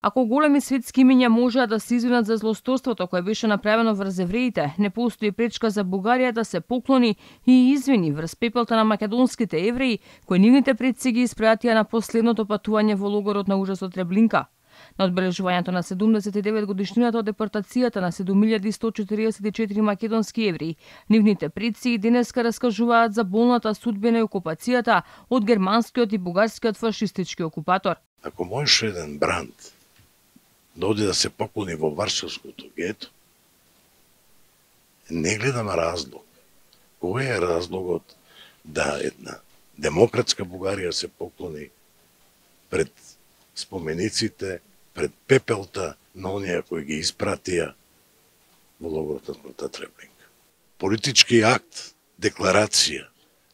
Ако големи светски имиња можеа да се извинат за злосторството кое беше направено врз евреите, не постои пречка за Бугарија да се поклони и извини врз пепелта на македонските евреи, кои нивните предци ги испратија на последното патување во логорот на ужасот Требленка. На одбележувањето на 79 годишнината од депортацијата на 7144 македонски евреи, нивните предци и денеска раскажуваат за болната судбина и окупацијата од германскиот и бугарскиот фашистички окупатор. Ако можеше еден бранд да оди да се поклони во Варшавското гето, не гледам разлог. Кој е разлогот да една демократска Бугарија се поклони пред спомениците, пред пепелта на оние кои ги испратија во логорот на смртта Требленка? Политички акт, декларација,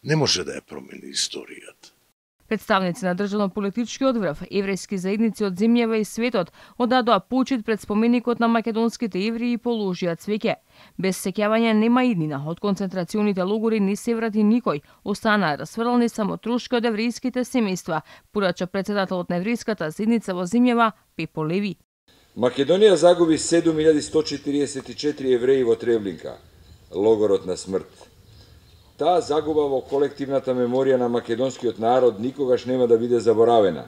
не може да ја промени историјата. Представници на државно-политичкиот врв, еврејски заедници од земјава и светот одадоа почит пред споменикот на македонските евреи и положија цвеќе. Без сеќавање нема иднина, од концентрационите логори не се врати никој, останаа расфрлани само трошки од еврејските семејства, порача председателот на еврејската заедница во земјава Пепо Леви. Македонија загуби 7144 евреи во Требленка, логорот на смрт. Таа загуба во колективната меморија на македонскиот народ никогаш нема да биде заборавена,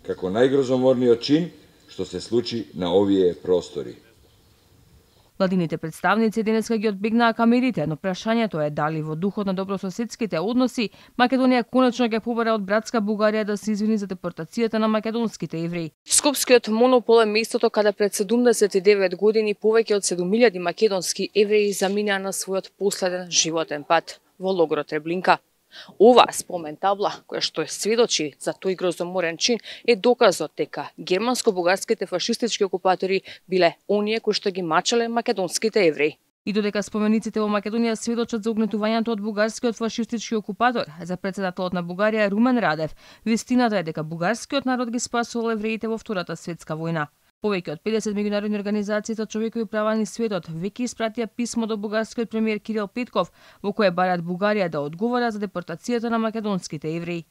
како најгрозоморниот чин што се случи на овие простори. Владините представници денеска ги одбегнаа камерите, но прашањето е дали во духот на добрососедските односи Македонија конечно ќе побара од братска Бугарија да се извини за депортацијата на македонските евреи. Скопскиот монопол е местото каде пред 79 години повеќе од 7000 македонски евреи заминаа на својот последен животен пат во логорот Требленка. Оваа спомен табла, која што сведочи за тој грозоморен чин, е доказот дека германско-бугарските фашистички окупатори биле оние кои што ги мачале македонските евреи. И додека спомениците во Македонија сведочат за угнетувањето од бугарскиот фашистички окупатор, за председателот на Бугарија Румен Радев, вистината е дека бугарскиот народ ги спасувал евреите во Втората светска војна. Повеќе од 50 меѓународни организации за човекови права низ светот веќе испратија писмо до бугарскиот премиер Кирил Петков во кое бараат Бугарија да одговара за депортацијата на македонските евреи.